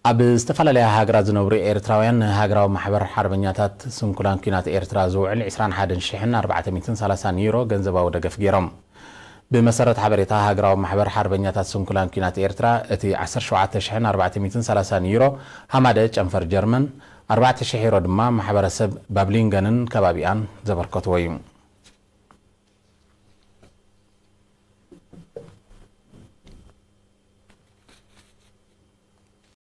ኣብ ዝተፈላለያ ሃገራት ዝነብሩ ኤርትራውያን ንሃገራዊ ማሕበር ሓርበኛታት ስንኩላን ኲናት ኤርትራ ዝውዕል ዕስራን ሓደን ሽሕን ኣርባዕተ ሚእትን ሰላሳን ዩሮ ገንዘባዊ ደገፍ ገይሮም። ብመሰረት ሓበሬታ ሃገራዊ ማሕበር ሓርበኛታት ስንኩላን ኲናት ኤርትራ፣ እቲ ዓሰርተ ሸውዓተ ሽሕን ኣርባዕተ ሚእትን ሰላሳን ዩሮ ሃማደ ጨንፈር ጀርመን፣ ኣርባዕተ ሽሕ ዩሮ ድማ ማሕበረሰብ ባብሊንገንን ከባቢኣን ዘበርከትዎ እዩ።